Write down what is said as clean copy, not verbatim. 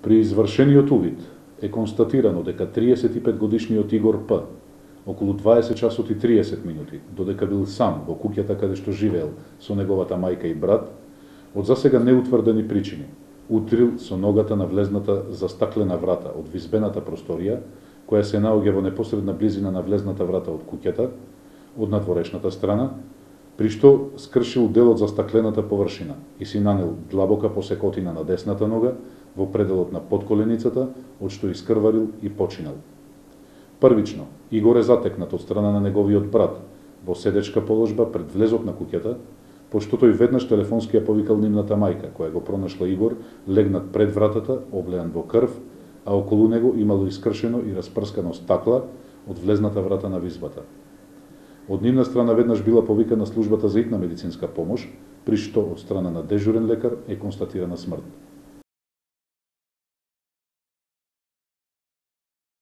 При извршениот увид е констатирано дека 35-годишниот Игор П. околу 20 часот и 30 минути, додека бил сам во куќата каде што живеел со неговата мајка и брат, од засега неутврдени причини, утрил со ногата на влезната застаклена врата од визбената просторија, која се наоѓа во непосредна близина на влезната врата од куќата, од надворешната страна, при што скршил дел од застаклената површина и си нанел длабока посекотина на десната нога во пределот на подколеницата, од што искрварил и починал. Првично, Игор е затекнат од страна на неговиот брат во седечка положба пред влезот на куќата, пошто тој веднаш телефонски ја повикал нивната мајка, која го пронашла Игор легнат пред вратата, облеан во крв, а околу него имало искршено и распрскано стакла од влезната врата на визбата. Од нивна страна веднаш била повикана службата за итна медицинска помош, при што од страна на дежурен лекар е констатирана смрт.